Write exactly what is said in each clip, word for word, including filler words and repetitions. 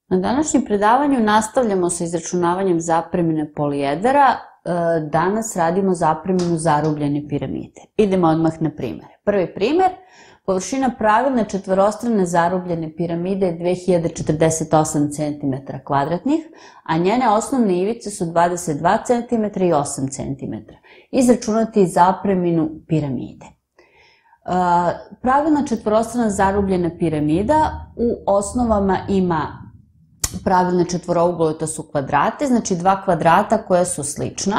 Na današnjem predavanju nastavljamo sa izračunavanjem zapremine polijedera. Danas radimo zapreminu zarubljene piramide. Idemo odmah na primjer. Prvi primjer, površina pravilne četvorostrane zarubljene piramide je dve hiljade četrdeset osam centimetara kvadratnih, a njene osnovne ivice su dvadeset dva centimetra i osam centimetara. Izračunati zapreminu piramide. Pravilna četvorostrana zarubljena piramida u osnovama ima pravilne četvorouglove, to su kvadrate, znači dva kvadrata koja su slična,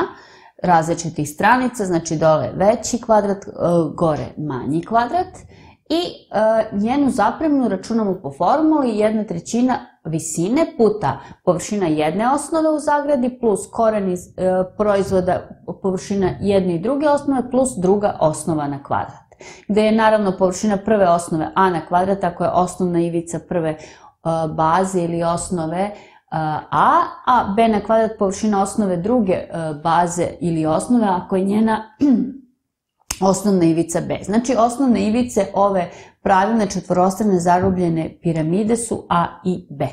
različitih stranica, znači dole veći kvadrat, gore manji kvadrat, i njenu zapreminu računamo po formuli jedna trećina visine puta površina jedne osnove u zagradi plus koren iz proizvoda površina jedne i druge osnove plus druga osnova na kvadrat, gde je naravno površina prve osnove a na kvadrat ako je osnovna ivica prve baze ili osnove a, a b na kvadrat površina osnove druge baze ili osnove ako je njena osnovna ivica b. Znači osnovne ivice ove pravilne četvorostrane zarubljene piramide su a i b.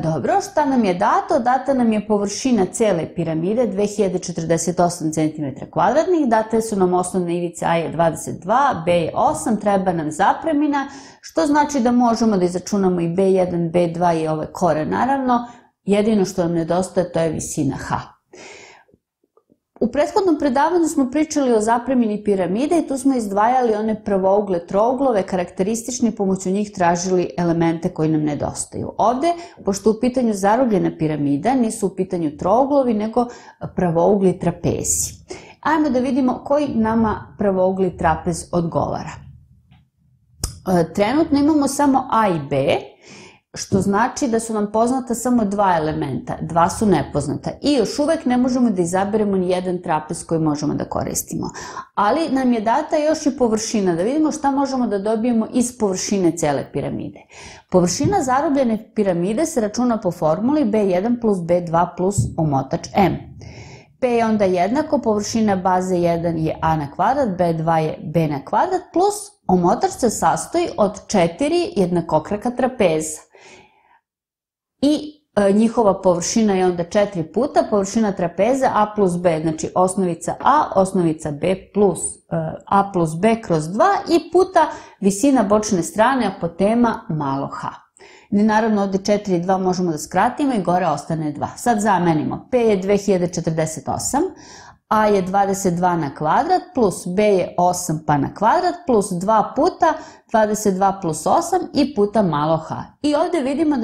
Dobro, šta nam je dato? Data nam je površina cele piramide dve hiljade četrdeset osam centimetara kvadratnih, date su nam osnovne ivice a je dvadeset dva, b je osam, treba nam zapremina, što znači da možemo da izračunamo i be jedan, be dva i ove kore naravno, jedino što nam nedostaje to je visina h. U prethodnom predavanju smo pričali o zapremini piramide i tu smo izdvajali one pravougle, trouglove, karakteristični, pomoću njih tražili elemente koji nam nedostaju. Ovde, pošto u pitanju zarubljena piramida, nisu u pitanju trouglovi, nego pravougli trapezi. Ajmo da vidimo koji nama pravougli trapez odgovara. Trenutno imamo samo a i b, što znači da su nam poznata samo dva elementa, dva su nepoznata i još uvek ne možemo da izaberemo ni jedan trapez koji možemo da koristimo. Ali nam je data još i površina, da vidimo šta možemo da dobijemo iz površine cele piramide. Površina zarubljene piramide se računa po formuli be jedan plus be dva plus omotač m. P je onda jednako, površina baze jedan je a na kvadrat, be dva je b na kvadrat plus omotač se sastoji od četiri jednakokraka trapeza. I njihova površina je onda četiri puta površina trapeza a plus b, znači osnovica a, osnovica b plus a plus b kroz dva i puta visina bočne strane apotema malo h. Naravno ovde četiri i dva možemo da skratimo i gore ostane dva. Sad zamenimo, p je dve hiljade četrdeset osam, a je dvadeset dva na kvadrat plus b je osam pa na kvadrat plus dva puta dvadeset dva plus osam i puta malo h. I ovde vidimo da